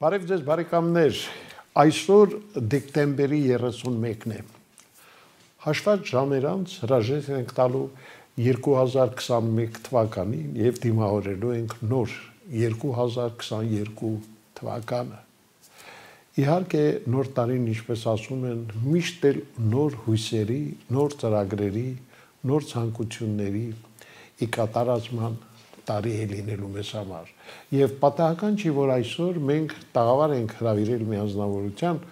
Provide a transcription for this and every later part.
Բարև ձեզ բարեկամներ, այսօր դեկտեմբերի 31-ն է։ Հաշված ժամեր անց հրաժեշտ ենք տալու 2021 թվականին եւ դիմավորելու ենք նոր 2022 թվականը։ Իհարկե նոր տարին, ինչպես ասում են, միշտ էլ նոր հույսերի, նոր ծրագրերի, նոր ցանկությունների ի կատարածման տարի է լինելու մեզ համար։ Եվ պատահական չի, որ այսօր մենք տաղավար ենք հրավիրել մի անձնավորության,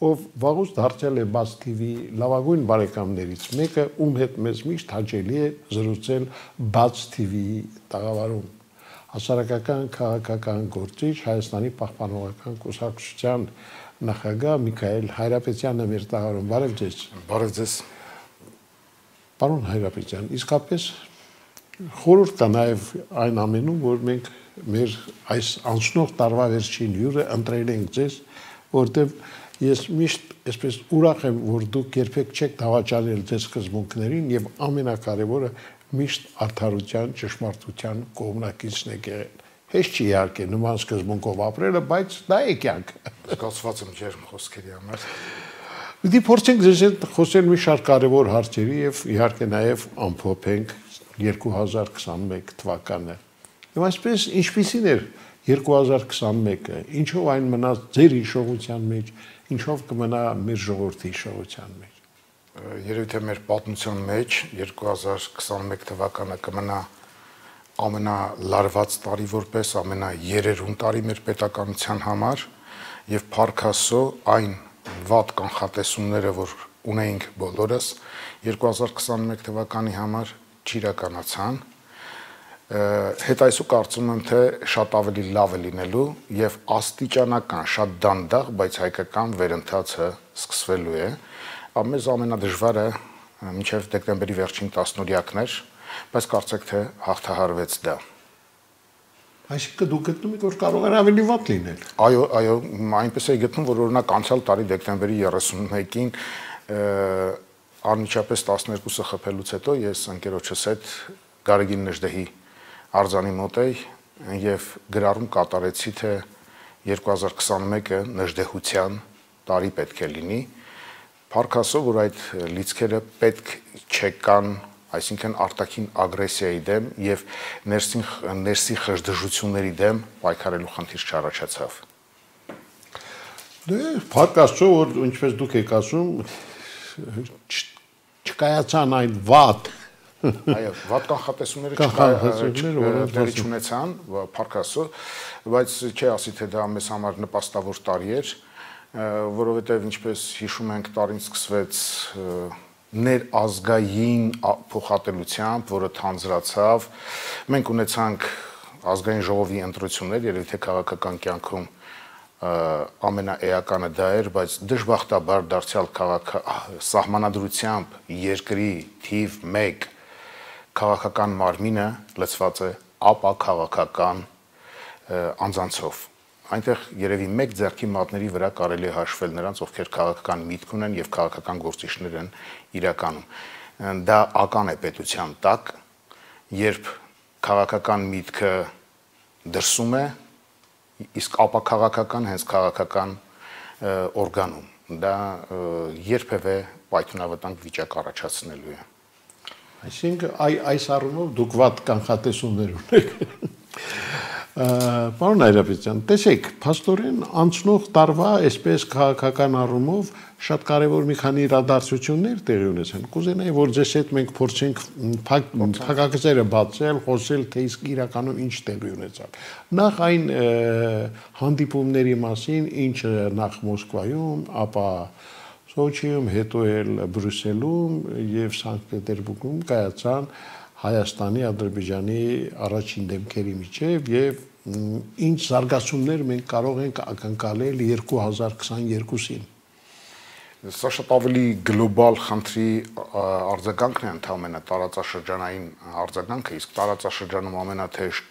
ով վաղուց դարձել է Բաց TV լավագույն բարեկամներից մեկը, ում հետ մեզ միշտ հաճելի է զրուցել Բաց TV-ի տաղավարում։ Հասարակական քաղաքական գործիչ Հայաստանի պահպանողական կուսակցության նախագահ Միքայել Հայրապետյանը մեր տաղավարում։ Բարև ձեզ։ Բարև ձեզ։ Պարոն Հայրապետյան, իսկապես խորհուրդ կա նաև այն ամենում, որ մենք մեր այս անցնող տարվա վերջին հյուրը ընտրել ենք ձեզ, որտեղ ես միշտ այսպես ուրախ եմ, որ դուք երբեք չեք դավաճանել ձեր սկզբունքներին եւ ամենակարևորը միշտ արդարության, ճշմարտության կողմնակիցն եք եղել։ Հեշտ չի իհարկե նման սկզբունքով ապրելը, բայց դա է կյանքը։ Զգացված եմ ջերմ խոսքերի համար։ Դի փորձենք ձեզ հետ խոսել մի շարք կարևոր հարցերի եւ իհարկե նաեւ ամփոփենք 2021 թվականը։ Եվ այսպես ինչպիսին էր 2021-ը, ինչով այն մնաց ձեր հիշողության մեջ, ինչով կմնա մեր ժողովրդի հիշողության մեջ։ Երևի թե մեր պատմության մեջ 2021 թվականը կմնա ամենալարված տարի որպես ամենաերերուն տարի մեր պետականության համար եւ փառքասո այն վատ կանխատեսումները, որ ունեինք բոլորս 2021 թվականի համար չիրականացան, հետ այսու կարծում եմ, թե շատ ավելի լավ է լինելու եւ աստիճանական, շատ դանդաղ, բայց հայկական վերընթացը սկսվելու է։ Մեզ ամենադժվարը մինչեւ դեկտեմբերի վերջին 10-օրյակն էր, բայց կարծեք թե հաղթահարվեց դա։ Այսինքն դուք գտնում եք, որ կարող էր ավելի վատ լինել։ Այո, այնպես է գտնում, որ օրինակ անցյալ տարի դեկտեմբերի 31-ին անմիջապես 12-ը խփելուց հետո ես ընկերոջս հետ Գարեգին Նժդեհի արձանի մոտ էի եւ գրառում կատարեցի, թե 2021-ը նժդեհության տարի պետք է լինի։ Փառքասո, որ այդ լիցքերը պետք չեկան, այսինքն արտաքին ագրեսիայի դեմ եւ ներսի խժդժությունների դեմ պայքարելու խնդիր չառաջացավ։ Դե փառքասո, որ ինչպես դուք եք ասում, չկայացան այն վատ Այո, վատ կանխատեսումները չունեցան, փառքասո, բայց չի ասի, թե դա մեզ համար նպաստավոր տարի էր, որովհետև ինչպես հիշում ենք, տարին սկսվեց ներազգային փոխատելությամբ, որը թանձրացավ։ Մենք ունեցանք ազգային ժողովի ընտրություններ, երևի թե քաղաքական կյանքում ամենաէականը դա էր, բայց դժբախտաբար դարձյալ սահմանադրությամբ երկրի թիվ 1 քաղաքական մարմինը լցված է ապաքաղաքական անձանցով։ Այնտեղ երևի մեկ ձեռքի մատների վրա կարելի է հաշվել նրանց, ովքեր քաղաքական միտք ունեն եւ քաղաքական գործիչներ են իրականում։ Դա ական է պետության տակ, երբ քաղաքական միտքը դրսում է, իսկ ապաքաղաքական հենց քաղաքական օրգանում։ Դա երբևէ պայթյունավտանգ վիճակ առաջացնելու է։ Այսինքն այս առումով դուք վատ կանխատեսումներ ունեք։ Պարոն Հայրապետյան, տեսեք, փաստորեն անցնող տարվա այսպես քաղաքական առումով շատ կարևոր մի քանի իրադարձություններ տեղի ունեցան։ Կուզենայի, որ ձեզ հետ մենք փորձենք փակագծերը բացել, խոսել, թե իսկ իրականում ինչ տեղի ունեցավ։ Նախ այն հանդիպումների մասին, ինչը նախ Մոսկվայում, ապա Սոչիում, հետո էլ Բրյուսելում եւ Սանկտ Պետերբուրգում կայացան Հայաստանի, Ադրբեջանի առաջին դեմքերի միջև եւ ինչ զարգացումներ մենք կարող ենք ակնկալել 2022-ին։ Սա շատ ավելի գլոբալ խնդրի արձագանքն է, ընդհանրապես տարածաշրջանային արձագանքը, իսկ տարածաշրջանում ամենաթեժ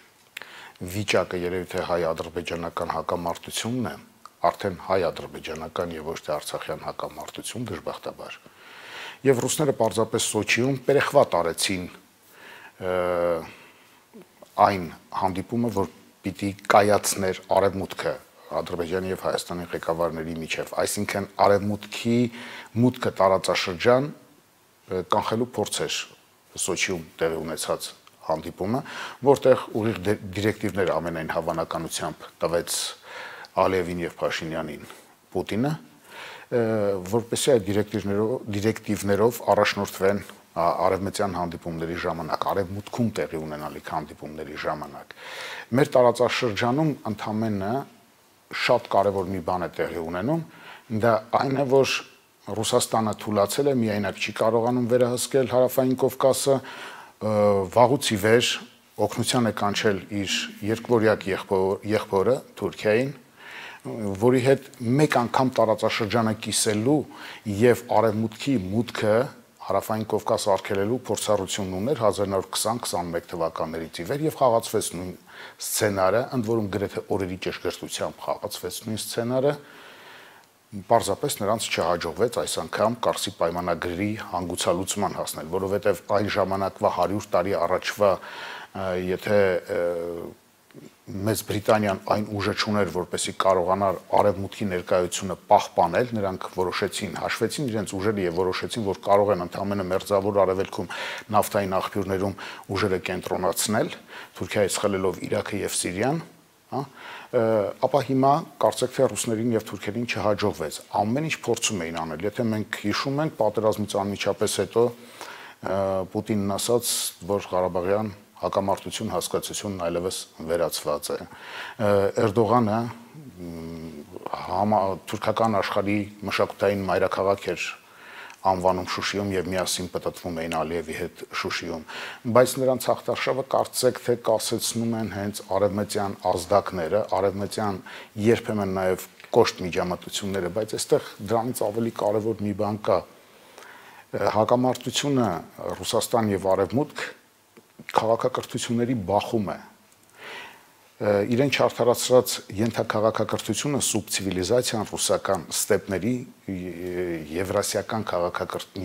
վիճակը երևի թե հայ-ադրբեջանական հակամարտությունն է, արդեն հայ-ադրբեջանական եւ ոչ թե արցախյան հակամարտություն դժբախտաբար։ Եվ ռուսները պարզապես Սոչիում պերեխվատ արեցին այն հանդիպումը, որ պիտի կայացներ արևմուտքը Ադրբեջանի եւ Հայաստանի ղեկավարների միջև, այսինքն արևմուտքի մուտքը տարածաշրջան կանխելու փորձեր Սոչիում տեղի ունեցած հանդիպումը, որտեղ ուղիղ դիրեկտիվներ ամենայն հավանականությամբ տվեց Ալիևին եւ Փաշինյանին Պուտինը, որպեսզի այդ դիրեկտիվներով առաջնորդվեն արևմտյան հանդիպումների ժամանակ, արևմուտքում տեղի ունենալիք հանդիպումների ժամանակ։ Մեր տարածաշրջանում ընդամենը շատ կարևոր մի բան է տեղի ունենում, դա այն է, որ Ռուսաստանը թուլացել է, միայնակ չի կարողանում վերահսկել Հարավային Կովկասը, վաղուց ի վեր օգնության է կանչել իր երկվորյակ եղբորը Թուրքիային, որի հետ մեկ անգամ տարածաշրջանը կիսելու եւ արևմուտքի մուտքը Հարավային Կովկաս արգելելու փորձառություն ուներ 1920-21 թվականներից ի վեր եւ խաղացվեց նույն սցենարը, ընդ որում գրեթե օրերի ճշգրտությամբ խաղացվեց նույն սցենարը, պարզապես նրանց չհաջողվեց այս անգամ Կարսի պայմանագրի հանգուցալուծման հասնել, որովհետեւ այն ժամանակվա 100 տարի առաջվա եթե Մեծ Բրիտանիան այն ուժը չուներ, որպեսզի կարողանար արևմուտքի ներկայությունը պահպանել, նրանք որոշեցին, հաշվեցին իրենց ուժերը եւ որոշեցին, որ կարող են ընդհանրապես մերձավոր արևելքում նավթային աղբյուրներում ուժերը կենտրոնացնել, Թուրքիայից խլելով Իրաքը եւ Սիրիան, ապա հիմա կարծեք թե ռուսներին եւ թուրքերին չհաջողվեց։ Ամեն ինչ փորձում էին անել։ Եթե մենք հիշում ենք, պատերազմից անմիջապես հետո Պուտինն ասաց, որ Ղարաբաղյան հակամարտություն հասկացությունն այլևս վերացված է։ Էրդողանը թուրքական աշխարհի մշակութային մայրաքաղաք էր անվանում Շուշիում եւ միասին պատտվում էին Ալիևի հետ Շուշիում, բայց նրանց հաղթարշավը կարծեք թե կասեցնում են հենց արևմտյան ազդակները, արևմտյան երբեմն նաեւ կոշտ միջամտությունները, բայց այստեղ դրանից ավելի կարեւոր մի բան կա։ Հակամարտությունը Ռուսաստան եւ Արևմուտք քաղաքակրթությունների բախում է։ Իրեն չարդարացրած ենթաքաղաքակրթությունը սուբցիվիլիզացիան ռուսական ստեպների եվրասիական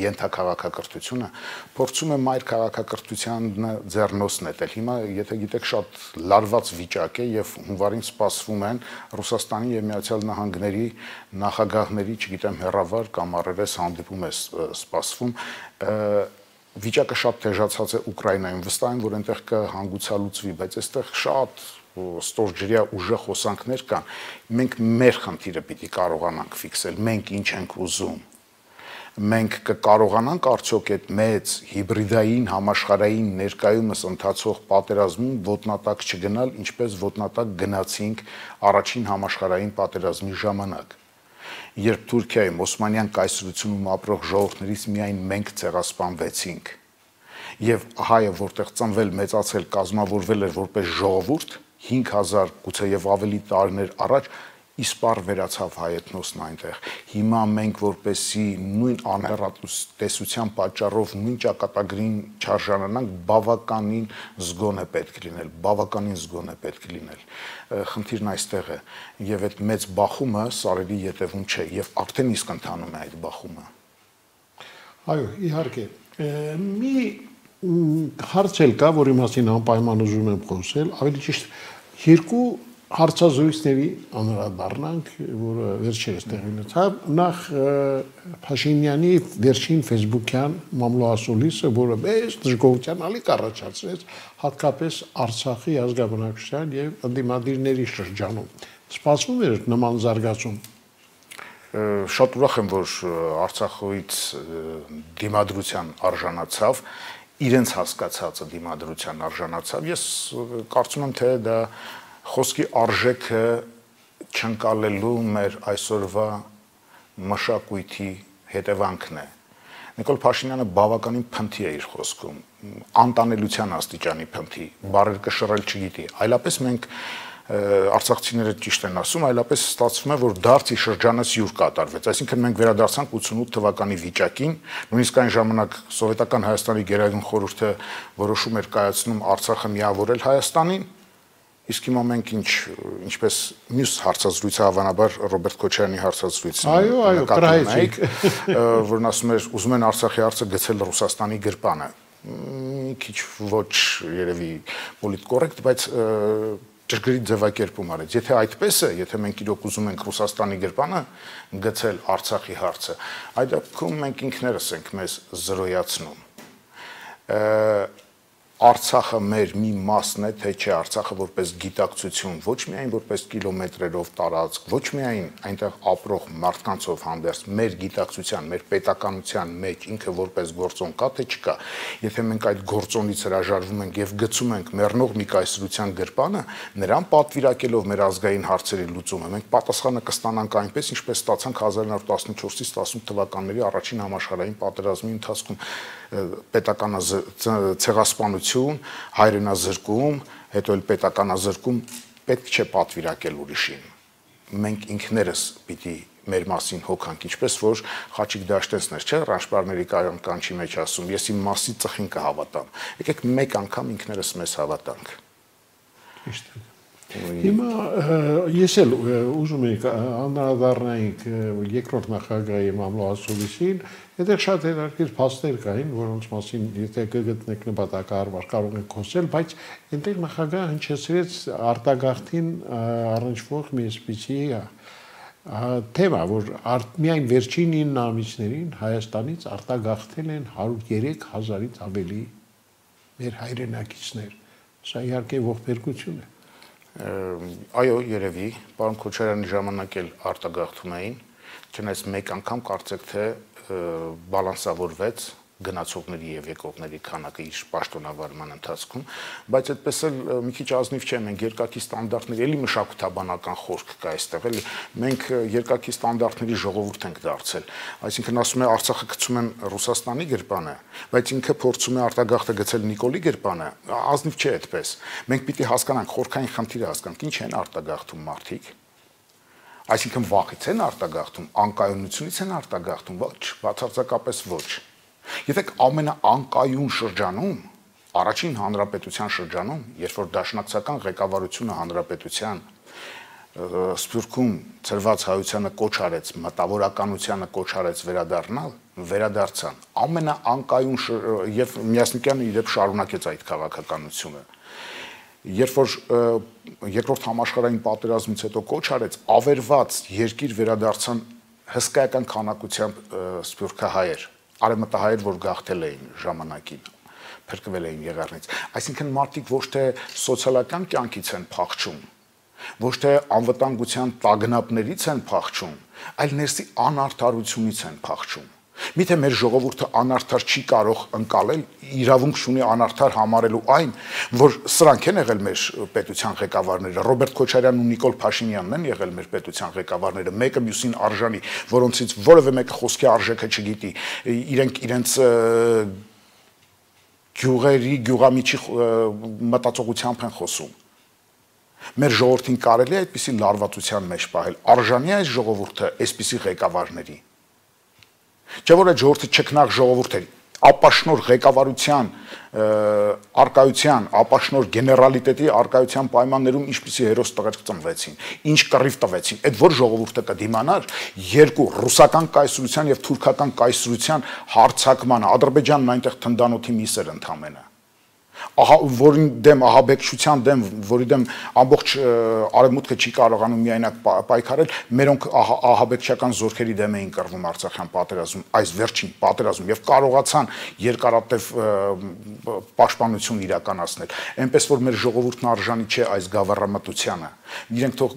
ենթաքաղաքակրթությունը փորձում է մայր քաղաքակրթությանը ձեռնոց նետել։ Հիմա եթե գիտեք շատ լարված վիճակ է եւ հունվարին սպասվում են Ռուսաստանի եւ Միացյալ Նահանգների նախագահների, չգիտեմ, հերավար կամ առերես հանդիպում է սպասվում, վիճակը շատ թեժացած է Ուկրաինայում, վստահ եմ, որ այնտեղ կհանգուցալուծվի, բայց այստեղ շատ ստորջրյա ուժեղ խոսանքներ կան։ Մենք մեր խնդիրը պիտի կարողանանք ֆիքսել, մենք ինչ ենք ուզում։ Մենք կկարողանանք արդյոք այդ մեծ հիբրիդային համաշխարհային ներկայումս ընթացող պատերազմում ոտնատակ չգնալ, ինչպես ոտնատակ գնացինք առաջին համաշխարհային պատերազմի ժամանակ։ Երբ Թուրքիայում Օսմանյան կայսրությունում ապրող ժողովուրդներից միայն մենք ցեղասպանվեցինք եւ հայը որտեղ ծնվել, մեծացել, կազմավորվել էր որպես ժողովուրդ 5000 գուցե եւ ավելի տարիներ առաջ իսպառ վերացավ հայեթնոսն այնտեղ։ Հիմա մենք որպեսի նույն անհեռատեսության պատճառով նույն ճակատագրին չարժանանանք, բավականին զգոն է պետք լինել, բավականին զգոն է պետք լինել։ Խնդիրն այստեղ է եւ այդ մեծ բախումը սարերի յետևում չէ եւ արդեն իսկ ընթանում է այդ բախումը։ Այո, իհարկե։ Մի հարց էլ կա, որի մասին անպայման ուզում եմ խոսել, ավելի ճիշտ երկու հարցազրույցների անդրադառնանք, որը վերջերս տեղի ունեցավ, նախ Փաշինյանի վերջին ֆեյսբուքյան մամլոասուլիսը, որը մեծ դժգոհության ալիք առաջացրեց հատկապես Արցախի ազգաբնակչության եւ ընդդիմադիրների շրջանում։ Սպասվում էր նման զարգացում։ Շատ ուրախ եմ, որ Արցախից դիմադրության արժանացավ, իրենց հասկացածը դիմադրության արժանացավ։ Ես կարծում եմ, թե դա խոսքի արժեքը չընկալելու մեր այսօրվա մշակույթի հետևանքն է։ Նիկոլ Փաշինյանը բավականին փնթի է իր խոսքում, անտանելության աստիճանի փնթի, բառեր կշռել չգիտի, այլապես մենք արցախցիները ճիշտ են ասում, այլապես ստացվում է, որ դարձի շրջանից յուր կատարվեց, այսինքն մենք վերադարձանք 88 թվականի վիճակին, նույնիսկ այն ժամանակ Սովետական Հայաստանի Գերագույն խորհուրդը որոշում էր կայացնում Արցախը միավորել Հայաստանին, իսկ հիմա մենք ինչպես մյուս հարցազրույցը հավանաբար Ռոբերտ Քոչարյանի հարցազրույցը այո, կրահեցիք, որն ասում էր ուզում են Արցախի հարցը գցել Ռուսաստանի գրպանը, մի քիչ ոչ երևի պոլիտկորեկտ, բայց ճշգրիտ ձևակերպում արեց։ Եթե այդպես է, եթե մենք իրոք ուզում ենք Ռուսաստանի գրպանը գցել Արցախի հարցը, այդ դեպքում մենք ինքներս ենք մեզ զրոյացնում։ Արցախը մեր մի մասն է, թե չէ Արցախը որպես գիտակցություն, ոչ միայն որպես կիլոմետրերով տարածք, ոչ միայն այնտեղ ապրող մարդկանցով հանդերձ, մեր գիտակցության, մեր պետականության մեջ ինքը որպես գործոն կա, թե չկա։ Եթե մենք այդ գործոնից հրաժարվում ենք եւ գցում ենք մեռնող մի կայսրության գրպանը, նրան պատվիրակելով մեր ազգային հարցերի լուծումը, մենք պատասխանը կստանանք այնպես, ինչպես ստացանք 1914-ից 18 թվականների առաջին համաշխարհային պատերազմի ընթացքում ցեղասպանություն, հայրենազրկում, հետո էլ պետականազրկում պետք չէ պատվիրակել ուրիշին։ Մենք ինքներս պիտի մեր մասին հոգանք, ինչպես որ Խաչիկ Դաշտենցն էր, չէ՞, Ռաշպարների կանչի մեջ ասում, ես իմ մասի ծխին կհավատամ։ Եկեք մեկ անգամ ինքներս մեզ հավատանք։ Ճիշտ է։ Հիմա ես էլ ուզում եմ անդրադառնալ երկրորդ նախագահի Մամլո Ասուլիսին, այդտեղ շատ հետաքրքիր փաստեր կային, որոնց մասին եթե կգտնեք նպատակահարմար կարող եք խոսել, բայց այնտեղ նախագահը հնչեցրեց արտագաղթին առնչվող մի այսպիսի թեմա, որ միայն վերջին 9 ամիսներին Հայաստանից արտագաղթել են 103,000-ից ավելի մեր հայրենակիցներ։ Սա իհարկե ողբերգություն է։ Այո, երևի, պարոն Քոչարյանի ժամանակ էլ արտագաղթում էին, չնայած մեկ անգամ կարծեք թե բալանսավորվեց գնացողների եւ եկողների քանակը իր պաշտոնավարման ընթացքում, բայց այդպես էլ մի քիչ ազնիվ չէ, մենք երկակի ստանդարտների էլի մշակութաբանական խորք կա այստեղ, էլի մենք երկակի ստանդարտների ժողովուրդ ենք դարձել, այսինքն ասում է Արցախը գցում են Ռուսաստանի գրպանը, բայց ինքը փորձում է արտագաղթը գցել Նիկոլի գրպանը, ազնիվ չէ այդպես, մենք պիտի հասկանանք խորքային խնդիրը հասկանանք, ինչ են արտագաղթում մարդիկ, այսինքն վախից են արտագաղթում, անկայունությունից են արտագաղթում, ոչ, բացարձակապես ոչ։ Եթե ամենաանկայուն շրջանում, առաջին հանրապետության շրջանում, երբ որ դաշնակցական ղեկավարությունը հանրապետության Սփյուռքում ծրված հայությանը կոչ արեց, մտավորականությանը կոչ արեց վերադառնալ, վերադարձան։ Ամենաանկայուն եւ Միասնիկյանը իրեն շարունակեց այդ քաղաքականությունը։ Երբ որ երկրորդ համաշխարհային պատերազմից հետո կոչ արեց, ավերված երկիր վերադարձան հսկայական քանակությամբ սփյուռքահայեր, արևմտահայեր, որ գաղթել էին ժամանակին, փրկվել էին եղեռնից։ Այսինքն մարդիկ ոչ թե սոցիալական կյանքից են փախչում, ոչ թե անվտանգության տագնապներից են փախչում, այլ ներսի անարդարությունից են փախչում։ Միթե մեր ժողովուրդը անարդար չի կարող ընկալել, իրավունք ունի անարդար համարելու այն, որ սրանք են եղել մեր պետության ղեկավարները, Ռոբերտ Քոչարյանն ու Նիկոլ Փաշինյանն են եղել մեր պետության ղեկավարները, մեկը մյուսին արժանի, որոնցից որևէ մեկը խոսքի արժեքը չգիտի, իրենք իրենց գյուղերի, գյուղամիջի մտածողությամբ են խոսում։ Մեր ժողովրդին կարելի է այդպիսի լարվածության մեջ պահել, արժանի է այս ժողովուրդը այսպիսի ղեկավարների։ Չէ՞ որ այդ ժողովուրդը չքնաղ ժողովուրդ էր, ապաշնոր ղեկավարության արկայության, ապաշնոր գեներալիտետի արկայության պայմաններում ինչպիսի հերոս տղերք ծնվեցին, ինչ կռիվ տվեցին, այդ որ ժողովուրդը կդիմանար երկու ռուսական կայսրության եւ թուրքական կայսրության հարձակմանը, Ադրբեջանն այնտեղ թնդանոթի միս էր ընդամենը։ Ահա որին դեմ ահաբեկչության դեմ, որի դեմ ամբողջ արևմուտքը չի կարողանում միայնակ պայքարել, մերոնք ահաբեկչական զորքերի դեմ էին կռվում Արցախյան պատերազմում, այս վերջին պատերազմում եւ կարողացան երկարատև պաշտպանություն իրականացնել։ Այնպես որ մեր ժողովուրդն արժանի չէ այս գավառամտությանը։ Իրենք թող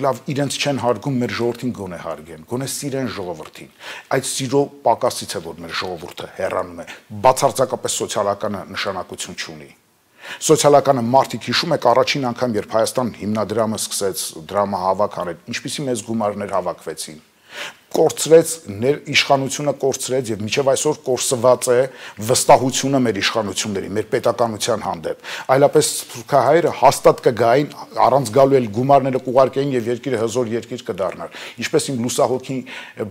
լավ իրենց չեն հարգում, մեր ժողովրդին գոնե հարգեն, գոնե սիրեն ժողովրդին։ Այդ սիրո պակասից է, որ մեր ժողովուրդը հեռանում է, բացարձակապես սոցիալական նշանակություն չունի։ Սոցիալականը մարդիկ հիշում եք առաջին անգամ, երբ Հայաստան հիմնադրամը սկսեց դրամահավաք անել, ինչպիսի մեծ գումարներ հավաքվեցին։ Կորցրեց իշխանությունը կորցրեց եւ մինչեւ այսօր կորսված է վստահությունը մեր իշխանությունների, մեր պետականության հանդեպ։ Այլապես սփյուռքահայերը հաստատ կգային, առանց գալու էլ գումարները կուղարկեին եւ երկիրը հզոր երկիր կդառնար։ Ինչպես իմ լուսահոգի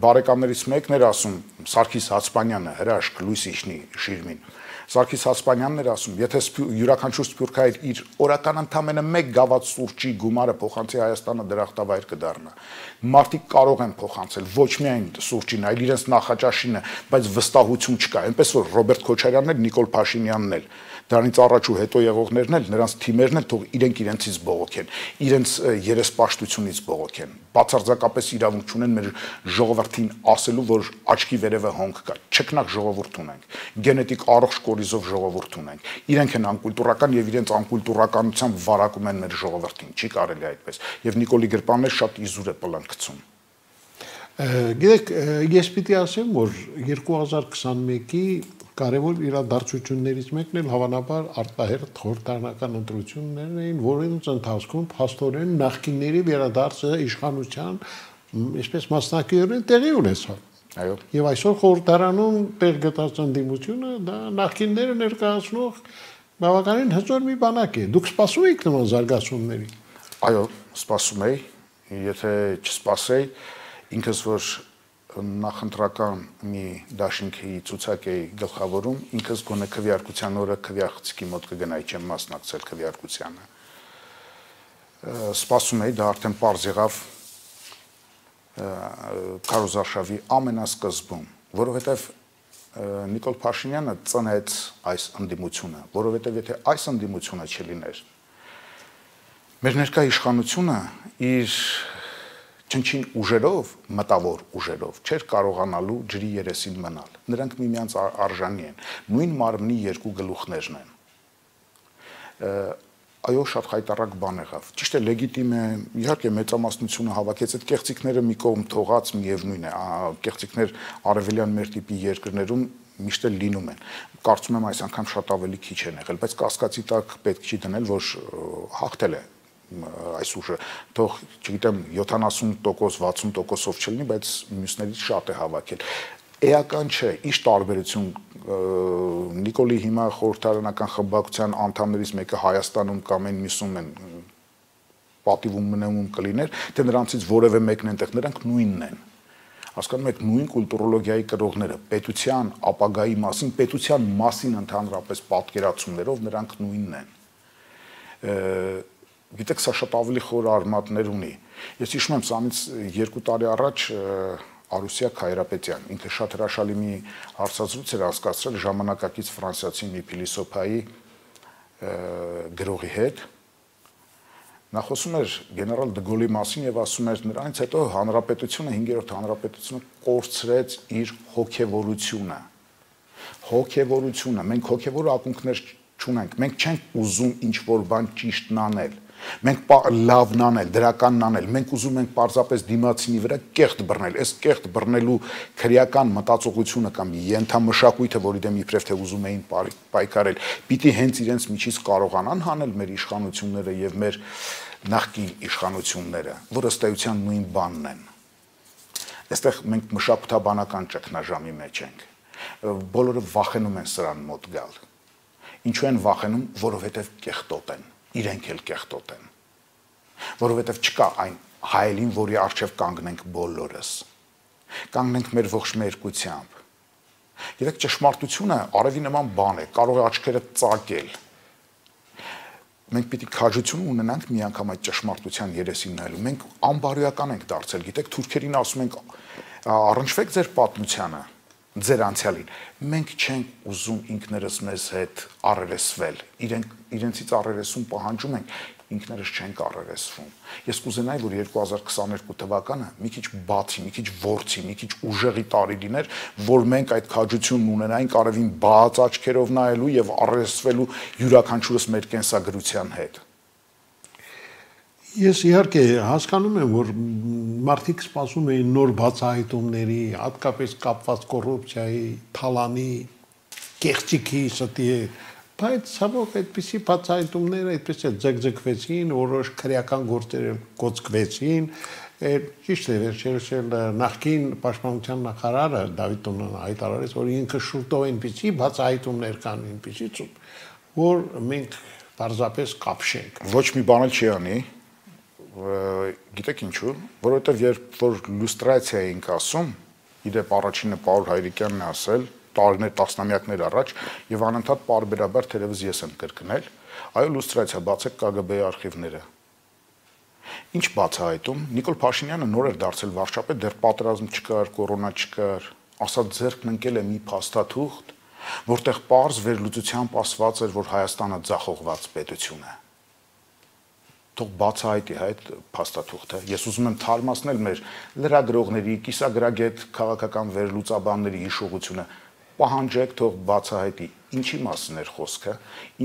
բարեկամներից մեկն էր ասում, Սարգիս Հացպանյանը, հրաշք, լույս իջնի Շիրմին, Սարգիս Հասպանյանն էր ասում, եթե յուրաքանչյուր սփյուռքահայր իր օրական ընդամենը 1 գավաթ սուրճի գումարը փոխանցի Հայաստանը դրախտավայր կդառնա։ Մարդիկ կարող են փոխանցել ոչ միայն սուրճին, այլ իրենց նախաճաշինը, բայց վստահություն չկա։ Այնպես որ Ռոբերտ Քոչարյանն էլ, Նիկոլ Փաշինյանն էլ, դրանից առաջ ու հետո եղողներն էլ, նրանց թիմերն էլ թող իրենք իրենցից բողոքեն, իրենց երեսպաշտությունից բողոքեն։ Բացարձակապես իրավունք չունեն մեր ժողովրդին ասելու, որ աչքի վերևը հոնք կա։ Չքնակ ժողովուրդ ունենք, գենետիկ առողջ կորիզով ժողովուրդ ունենք։ Իրենք են անկուլտուրական եւ իրենց անկուլտուրականությամբ վարակում են մեր ժողովրդին։ Չի կարելի այդպես։ Եվ Նիկոլի Գրպանն էլ շատ իզուր է պլանկցում։ Գիտեք, ես պիտի ասեմ, որ 2021-ի կարևոր իրադարձություններից մեկն էլ հավանաբար արտահերթ խորհրդարանական ընտրություններն էին, որոնց ընթացքում փաստորեն նախկինների վերադարձը իշխանության, այսպես մասնակիորեն տեղի ունեցավ։ Այո։ Եվ այսօր խորհրդարանում տեղ գտած ընդդիմությունը դա նախկինները ներկայացնող բավականին հզոր մի բանակ է։ Դուք սպասում եք նման զարգացումների։ Այո, սպասում եի, եթե չսպասեի, ինքս որ նախընտրական մի դաշինքի ցուցակ էի գլխավորում, ինքս գոնե քվեարկության օրը քվեախցիկի մոտ կգնայի, չեմ մասնակցել քվեարկությանը։ Սպասում էի, դա արդեն պարզ եղավ քարոզարշավի ամենասկզբում, որովհետև Նիկոլ Փաշինյանը ծնեց այս ընդդիմությունը, որովհետև եթե այս ընդդիմությունը չլիներ, մեր ներկա իշխանությունը իր չնչին ուժերով, մտավոր ուժերով չէր կարողանալու ջրի երեսին մնալ։ Նրանք միմյանց արժանի են, նույն մարմնի երկու գլուխներն են։ Այո, շատ խայտառակ բան եղավ։ Ճիշտ է, լեգիտիմ է, իհարկե մեծամասնությունը հավաքեց այդ կեղծիքները մի կողմ թողած միևնույն է, կեղծիքներ արևելյան մեր տիպի երկրներում միշտ էլ լինում են։ Կարծում եմ այս անգամ շատ ավելի քիչ են եղել, բայց կասկածի տակ պետք չի դնել, որ հաղթել է այս ուժը, թող, չգիտեմ, 70%, 60%-ով չլինի, բայց մյուսներից շատ է հավաքել։ Էական չէ, ինչ տարբերություն Նիկոլի հիմա խորհրդարանական խմբակցության անդամներից մեկը Հայաստանում կամ այն մյուսում են պատիվում մնումում կլիներ, թե նրանցից որևէ մեկն այնտեղ, նրանք նույնն են։ Հասկանում եք, նույն կուլտուրոլոգիայի կրողները, պետության ապագայի մասին ընդհանրապես պատկերացումներով նրանք նույնն են։ Գիտեք, սա շատ ավելի խոր արմատներ ունի։ Ես հիշում եմ, սրանից 2 տարի առաջ Արուսյակ Հայրապետյան, ինքը շատ հրաշալի մի հարցազրույց էր անցկացրել ժամանակակից ֆրանսիացի մի փիլիսոփայի գրողի հետ։ Նա խոսում էր գեներալ դը մասին եւ ասում էր նրանից հետո հանրապետությունը 5-րդ հանրապետությունը կորցրեց իր հոգեվորությունը։ Հոգեվորությունը, մենք հոգեվոր ակունքներ չունենք, մենք չենք ուզում ինչ-որ բան ճիշտն անել, մենք լավն անել, դրականն անել, մենք ուզում ենք պարզապես դիմացինի վրա կեղտ բռնել, այս կեղտ բռնելու քրեական մտածողությունը կամ ենթամշակույթը, որի դեմ իբրև թե ուզում էին պայքարել, պիտի հենց իրենց միջից կարողանան հանել մեր իշխանությունները եւ մեր նախկին իշխանությունները, որ ըստ էության նույն բանն են։ Այստեղ մենք մշակութաբանական ճգնաժամի մեջ ենք։ Բոլորը վախենում են սրան մոտ գալ։ Ինչու են վախենում, որովհետև կեղտոտ են, իրենք էլ կեղտոտ են։ Որովհետև չկա այն հայելին, որի առջև կանգնենք բոլորս։ Կանգնենք մեր ողջ մերկությամբ։ Գիտեք, ճշմարտությունը արևի նման բան է, կարող է աչքերը ծակել։ Մենք պիտի քաջություն ունենանք մի անգամ այդ ճշմարտության երեսին նայելու։ Մենք անբարոյական ենք դարձել, գիտեք, թուրքերին ասում ենք առնչվեք ձեր պատմությանը, ձեր անցյալին։ Մենք չենք ուզում ինքներս մեզ հետ առերեսվել, իրենցից առերեսում պահանջում ենք, ինքներս չենք առերեսվում։ Ես կուզենայի, որ 2022 թվականը մի քիչ բացի, մի քիչ ворցի, մի քիչ ուժեղի տարի լիներ, որ մենք այդ քաջությունն ունենայինք արևին բաց աչքերով նայելու եւ առերեսվելու յուրաքանչյուրս մեր կենսագրության հետ։ Ես իհարկե հասկանում եմ, որ մարդիկ սպասում էին նոր բացահայտումների, հատկապես կապված կոռուպցիայի, թալանի, կեղծիքի ստի հետ, բայց ցավոք այդպիսի բացահայտումները այդպես է ձգձգվեցին, որոշ քրեական գործեր կոծկվեցին, ճիշտ է, վերջերս նախկին պաշտպանության նախարարը Դավիթ Տոնոն հայտարարեց, որ ինքը շուտով այնպիսի բացահայտումներ կան, այնպիսի ցույց, որ մենք պարզապես կապշենք։ Ոչ մի բան էլ չի անի։ Գիտեք ինչու, որովհետև երբ որ լուստրացիա էինք ասում, իդեպ առաջինը Պաուլ Հայրիկյանն է ասել, տարիներ, տասնամյակներ առաջ եւ անընդհատ պարբերաբար թերևս ես եմ կրկնել, այո, լուստրացիա, բացեք KGB-ի արխիվները։ Ինչ բացահայտում, Նիկոլ Փաշինյանը նոր էր դարձել վարչապետ, դեռ պատերազմ չկար, կորոնա չկար, ասած ձեռքն ընկել է մի փաստաթուղթ, որտեղ պարզ վերլուծությամբ ասված էր, որ Հայաստանը ձախողված պետություն է։ Թող բացահայտի այդ փաստաթուղթը։ Ես ուզում եմ թարմացնել մեր լրագրողների, կիսագրագետ քաղաքական վերլուծաբանների հիշողությունը։ Պահանջեք, թող բացահայտի ինչի մասին էր խոսքը,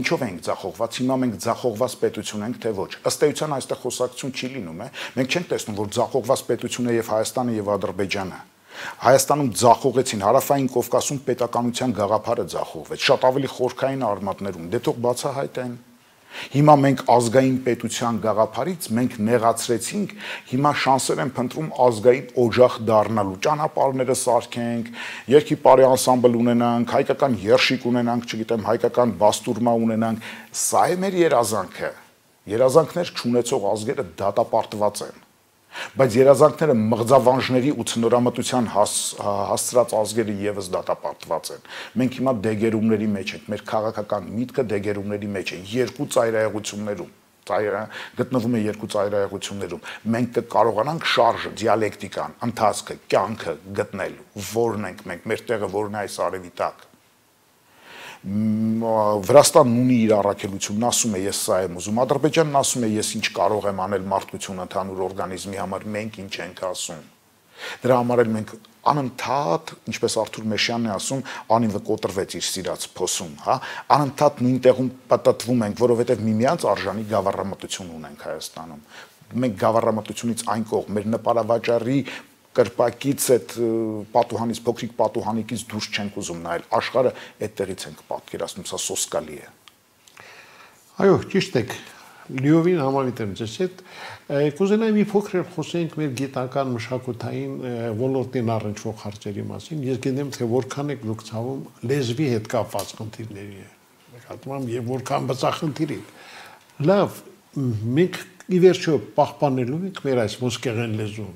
ինչով ենք ձախողված, հիմա մենք ձախողված պետություն ենք, թե ոչ։ Ըստ էության այստեղ խոսակցություն չի լինում, մենք չենք տեսնում, որ ձախողված պետություն է եւ Հայաստանը եւ Ադրբեջանը։ Հայաստանում ձախողեցին, Հարավային Կովկասում պետականության գաղափարը ձախողվեց, շատ ավելի խորքային արմատներում, դե թող բացահայտեն։ Հիմա մենք ազգային պետության գաղափարից մենք նեղացրեցինք, հիմա շանսեր են փնտրում ազգային օջախ դառնալու, ճանապարհները սարքենք, երգի պարի անսամբլ ունենանք, հայկական երշիկ ունենանք, չգիտեմ, հայկական բաստուրմա ունենանք, սա է մեր երազանքը։ Երազանքներ չունեցող ազգերը դատապարտված են։ Բայց երազանքները մղձավանջների ու ցնորամտության հասցրած ազգերը եւս դատապարտված են։ Մենք հիմա դեգերումների մեջ ենք, մեր քաղաքական միտքը դեգերումների մեջ է, երկու ծայրահեղություններում, գտնվում է երկու ծայրահեղություններում։ Մենք կկարողանանք շարժը, դիալեկտիկան, ընթացքը, կյանքը գտնել, որն ենք մենք, մեր տեղը որն է այս արևի տակ։ Վրաստանն ունի իր առաքելությունն, ասում է ես սա եմ ուզում, Ադրբեջանն ասում է ես ինչ կարող եմ անել մարդկությունը ընդհանուր օրգանիզմի համար, մենք ինչ ենք ասում։ Դրա համար էլ մենք անընդհատ, ինչպես Արթուր Մեշյանն է ասում, անիվը կոտրվեց իր սիրած փոսում, հա, անընդհատ նույն տեղում պատտվում ենք, որովհետև միմյանց արժանի գավառամտություն ունենք Հայաստանում։ Մենք գավառամտությունից այն կողմ, մեր նպարավաճառի կրպակից այդ պատուհանից, փոքրիկ պատուհանիկից դուրս չենք ուզում նայել, աշխարհը այդտեղից ենք պատկերացնում, սա սոսկալի է։ Այո, ճիշտ եք, լիովին համավիտ եմ ձեզ հետ, կուզենայի մի փոքր խոսենք մեր գիտական մշակութային ոլորտին առնչվող հարցերի մասին, ես գիտեմ, թե որքան եք դուք ցավում լեզվի հետ կապված խնդիրների է, նկատմամբ եւ որքան բծախնդիրի։ Լավ, մենք ի վերջո պահպանելու ենք մեր այս ոսկեղեն լեզուն։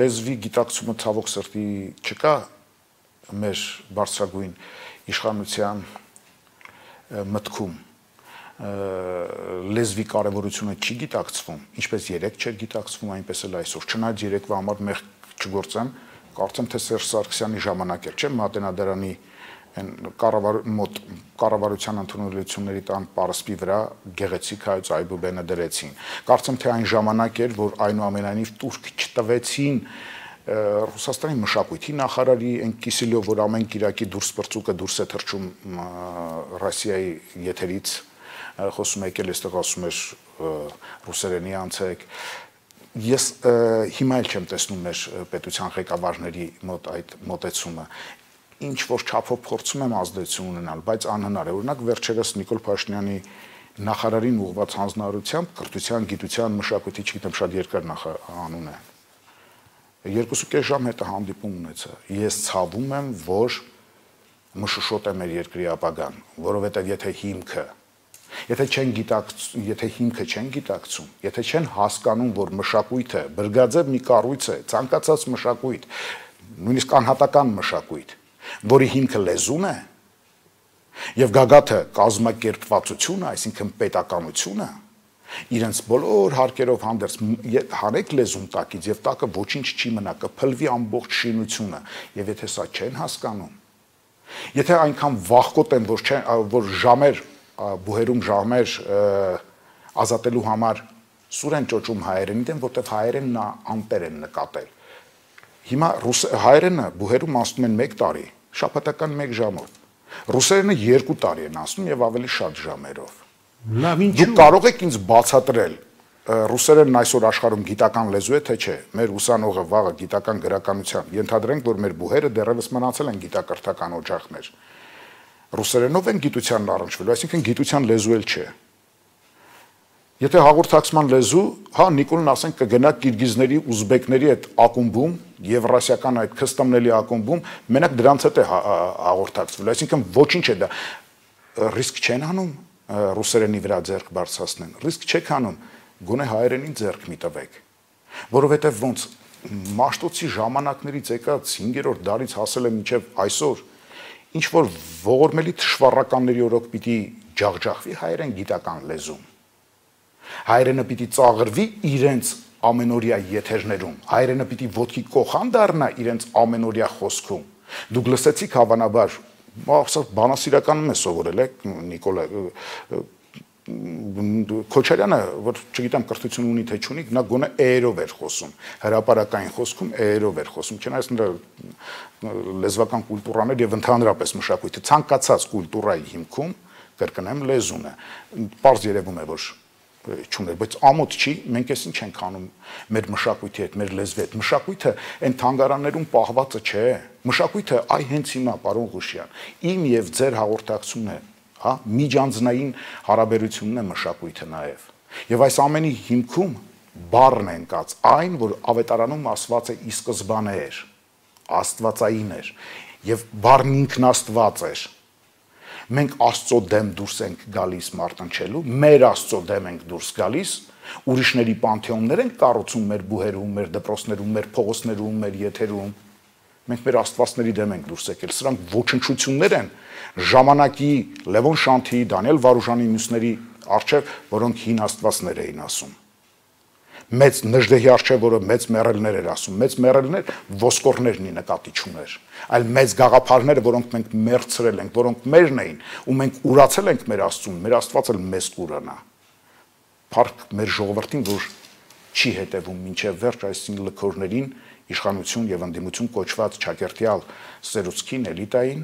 Լեզվի գիտակցումը ցավոք սրտի չկա մեր բարձրագույն իշխանության մտքում։ Լեզվի կարևորությունը չի գիտակցվում, ինչպես երեք չէր գիտակցվում, այնպես էլ այսօր։ Չնայած երեկվա համար մեղք չգործեմ, կարծեմ թե Սերժ Սարգսյանի ժամանակ էր, չէ՞, Մատենադարանի կառավարության ընդունելությունների տան պարսպի վրա գեղեցիկ հայոց այբուբենը դրեցին։ Կարծեմ թե այն ժամանակ էր, որ այնուամենայնիվ տուրք չտվեցին Ռուսաստանի մշակույթի նախարարի այն Կիսելյով, որ ամեն կիրակի դուրս բրծուկը դուրս է թռչում Ռոսիայի եթերից, խոսում եկել այստեղ ասում էր ռուսերենի անցեք։ Ես հիմա էլ չեմ տեսնում մեր պետության ղեկավարների մոտ այդ մոտեցումը։ Ինչ որ չափով փորձում եմ ազդեցություն ունենալ, բայց անհնար է։ Օրինակ վերջերս Նիկոլ Փաշինյանի նախարարին ուղղված հանձնարարությամբ կրթության, գիտության, մշակույթի, չգիտեմ, շատ երկար անուն է։ 2.5 ժամ հետը հանդիպում ունեցա։ Ես ցավում եմ, որ մշուշոտ է մեր երկրի ապագան, որովհետև եթե հիմքը չեն գիտակցում, եթե չեն հասկանում, որ մշակույթը բրգաձև մի կառույց է, ցանկացած մշակույթ, նույնիսկ անհատական մշակույթ, որի հիմքը լեզուն է, եւ գագաթը կազմակերպվածությունը, այսինքն պետականությունը, իրենց բոլոր հարկերով հանդերձ հանեք լեզուն տակից եւ տակը ոչինչ չի մնա, կփլվի ամբողջ շինությունը, եւ եթե սա չեն հասկանում, եթե այնքան վախկոտ են, որ ժամեր բուհերում ժամեր ազատելու համար սուր են ճոճում հայերենի դեմ, որտեղ հայերենն անտեր են նկատել։ Հիմա հայերենը բուհերում անցնում են 1 տարի, շաբաթական 1 ժամով։ Ռուսերենը 2 տարի են անցնում եւ ավելի շատ ժամերով։ Դուք կարող եք ինձ բացատրել ռուսերենն այսօր աշխարհում գիտական լեզու է թե չէ։ Մեր ուսանողը վաղը գիտական գրականության, ենթադրենք, որ մեր բուհերը դեռևս մնացել են գիտակրթական օջախներ։ Ռուսերենով են գիտությանն առնչվելու, այսինքն գիտության լեզու էլ չէ։ Եթե հաղորդակցման լեզու, հա, Նիկոլն ասենք կգնա կիրգիզների, ուզբեկների այդ ակումբում, եվրասիական այդ քստամների ակումբում, մենակ դրանց հետ է հաղորդակցվելու, այսինքն ոչինչ է դա։ Ռիսկ չեն անում ռուսերենի վրա ձեռք բարձրացնեն, ռիսկ չեք անում, գոնե հայերենին ձեռք մի տվեք, որովհետև ոնց Մաշտոցի ժամանակներից եկած 5-րդ դարից հասել է մինչև այսօր, ինչ որ ողորմելի թշվառականների օրոք պիտի ջախջախվի հայերեն գիտական լեզում։ Հայերենը պիտի ծաղրվի իրենց ամենօրյա եթերներում, հայերենը պիտի ոտքի կոխան դառնա իրենց ամենօրյա խոսքում։ Դուք լսեցիք հավանաբար, բանասիրականում է սովորել Նիկոլա Քոչարյանը, որ չգիտեմ կրթություն ունի թե չունի, նա գոնե էերով էր խոսում, հրապարակային խոսքում էերով էր խոսում, չնայած նրա լեզվական կուլտուրաներ եւ ընդհանրապես մշակույթը ցանկացած կուլտուրայի հիմքում կրկնեմ լեզուն է։ Պարզ երևում է, որ չուներ, բայց ամոթ չի, մենք էս ինչ ենք անում մեր մշակույթի հետ, մեր լեզվի հետ։ Մշակույթը այն թանգարաններում պահվածը չէ։ Մշակույթը այ հենց հիմա, պարոն Ղուշյան, իմ եւ ձեր հաղորդակցությունն է, հա, միջանձնային հարաբերությունն է մշակույթը նաեւ։ Եվ այս ամենի հիմքում բառն է ընկած, այն, որ ավետարանում ասված է ի սկզբանե էր, աստվածային էր, եւ բառն ինքն Աստված էր։ Մենք Աստծո դեմ դուրս ենք գալիս մարտնչելու, մեր Աստծո դեմ ենք դուրս գալիս, ուրիշների պանթեոններ ենք կառուցում մեր բուհերում, մեր դպրոցներում, մեր փողոցներում, մեր եթերում։ Մենք մեր աստվածների դեմ ենք դուրս եկել։ Սրանք ոչնչություններ են ժամանակի Լևոն Շանթիի, Դանիել Վարուժանի մյուսների արչև, որոնք հին աստվածներ էին ասում։ Մեծ Նժդեհի արչև, որը մեծ մեռելներ էր ասում, մեծ մեռելներ ոսկորներն ի նկատի չուներ, այլ մեծ գաղափարները, որոնք մենք մերցրել ենք, որոնք մերն էին, ու մենք ուրացել ենք մեր Աստծուն, մեր Աստված էլ մեզ կուրանա։ Փառք մեր ժողովրդին, որ չի հետևում մինչև վերջ այս լքորներին, իշխանություն եւ ընդդիմություն կոչված ճակերտյալ սերուցքին, էլիտային,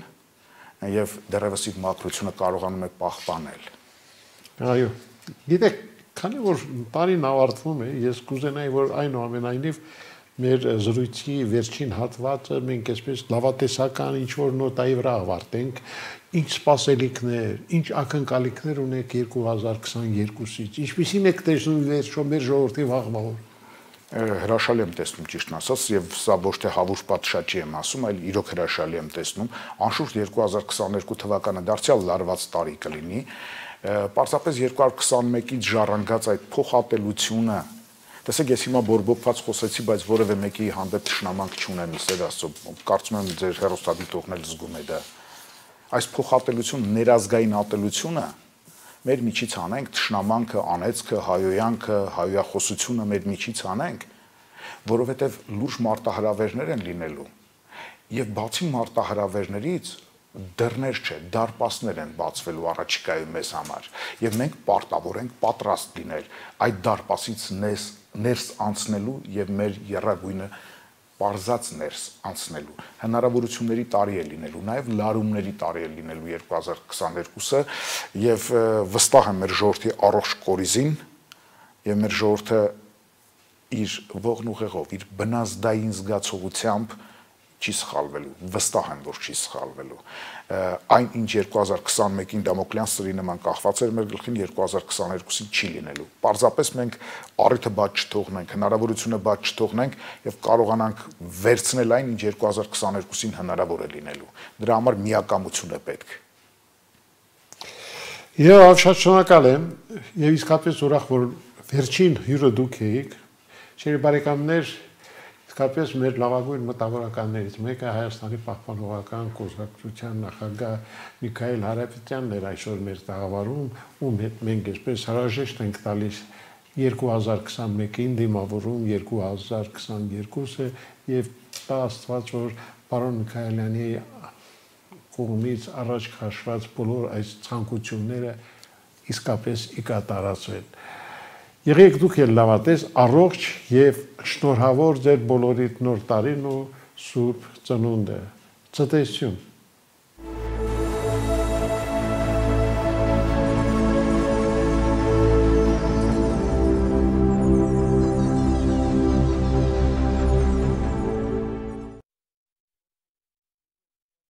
եւ դեռևս իր մաքրությունը կարողանում է պահպանել։ Այո, գիտեք, քանի որ տարին ավարտվում է, ես կուզենայի, որ այնուամենայնիվ մեր զրույցի վերջին հատվածը մենք այսպես լավատեսական ինչ-որ նոտայի վրա ավարտենք, ինչ սպասելիքներ, ինչ ակնկալիքներ ունեք 2022-ից, ինչպիսին եք տեսնում վերջո մեր ժողովրդի վաղվաղոր։ Հրաշալի եմ տեսնում, ճիշտն ասած, եւ սա ոչ թե հավուր պատշաճի եմ ասում, այլ իրոք հրաշալի եմ տեսնում, անշուշտ 2022 թվականը դարձյալ լարված տարի կլինի, պարզապես 2021-ից ժառանգած այդ փոխատելությունը, տեսեք, ես հիմա բորբոքված խոսեցի, բայց որևէ մեկի հանդեպ թշնամանք չունեմ, Սեր Աստծո, կարծում եմ ձեր հեռուստադիտողն էլ զգում է դա։ Այս փոխատելություն, ներազգային ատելությունը մեր միջից անենք, թշնամանքը, անեծքը, հայոյանքը, հայոյախոսությունը մեր միջից անենք, որովհետև լուրջ մարտահրավերներ են լինելու։ Եվ բացի մարտահրավերներից դռներ չէ, դարպասներ են բացվելու առաջիկայում մեզ համար, եւ մենք պարտավոր ենք պատրաստ լինել այդ դարպասից ներս անցնելու եւ մեր եռագույնը պարզած ներս անցնելու։ Հնարավորությունների տարի է լինելու, նաեւ լարումների տարի է լինելու 2022-ը եւ վստահ եմ մեր ժողովրդի առողջ կորիզին եւ մեր ժողովուրդը իր ողն ուղեղով, իր բնազդային զգացողությամբ չի սխալվելու, վստահ եմ, որ չի սխալվելու։ Այն ինչ 2021-ին Դամոկլյան սրի նման կախված էր մեր գլխին, 2022-ին չի լինելու։ Պարզապես մենք առիթը բաց չթողնենք, հնարավորությունը բաց չթողնենք եւ կարողանանք վերցնել այն, ինչ 2022-ին հնարավոր է լինելու։ Դրա համար միակամություն է պետք։ Եվ շատ շնորհակալ եմ եւ իսկապես ուրախ, որ վերջին հյուրը դուք եք։ Չերի բարեկամներ, իսկապես մեր լավագույն մտավորականներից մեկը Հայաստանի պահպանողական կուսակցության նախագահ Միքայել Հարապետյանն էր այսօր մեր տաղավարում, ում հետ մենք այսպես հրաժեշտ ենք տալիս 2021-ին դիմավորում 2022-ը եւ տա Աստված, որ պարոն Միքայելյանի կողմից առաջ քաշված բոլոր այս ցանկությունները իսկապես կատարածվեն։ Եղեք դուք էլ լավատես, առողջ եւ շնորհավոր ձեր բոլորիդ նոր տարին ու սուրբ ծնունդը։ Ցտեսություն։